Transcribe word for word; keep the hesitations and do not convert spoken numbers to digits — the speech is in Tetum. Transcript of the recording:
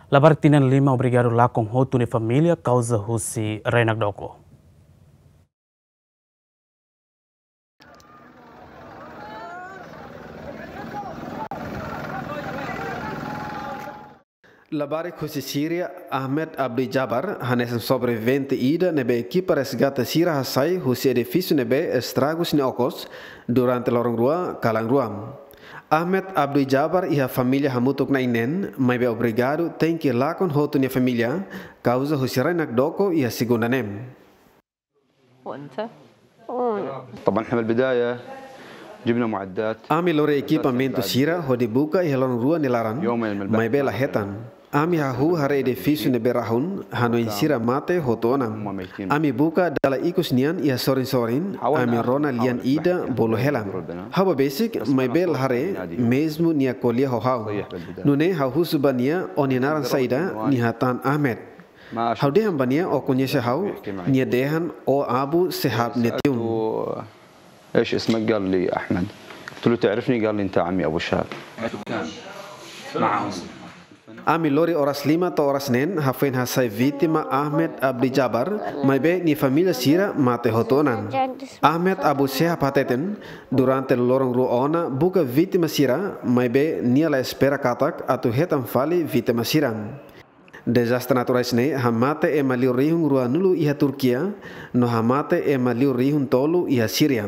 Labarik tinan lima obrigadu lakon hotu nia família kauza husi rai-nakdoko. Labarik husi Síria, Ahmed Abdi Jabar, hanesan sobrevivente ida ne'ebé ekipa resgate sira hasai husi edifísiu ne'ebé estragus nia okos durante loron rua kalan rua. Ahmed Abdi Jabar iha família hamutuk na'in neen, maibé obrigadu tenke lakon hotu nia família kauza husi rai-nakdoko iha segunda ne'e. وانت؟ طبعا احنا بالبدايه جبنا معدات. Ami lori ekipamentu sira hodi buka iha loron rua nia laran, maibé la hetan. Ami hahú haree edifísiu ne'ebé rahun, hanoin sira mate hotu ona. Ami buka dala ikus nian iha sorin-sorin, ami rona lian ida bolu hela. Ha'u bá besik, maibé la haree, mezmu nia ko'alia ho ha'u. Nune'e ha'u husu ba nia, ó nia naran saida, nia hatán Ahmed. Ha'u dehan ba nia, ó koñese ha'u? Nia dehan, ó Abu Sehab nia tiun. ايش اسمك؟ قال لي احمد. قلت له تعرفني؟ قال لي انت عمي ابو شهاب. Ami lori oras lima to'o oras neen hafoin hasai vítima Ahmed Abdi Jabar, maibé nia família sira mate hotu ona. Ahmed Abu Sehab hateten, durante loron rua ona buka vítima sira, maibé nia la espera katak atu hetan fali vítima sira. Dezastre naturais ne'e hamate ema liu rihun ruanulu iha Turkia, no hamate ema liu rihun tolu iha Síria.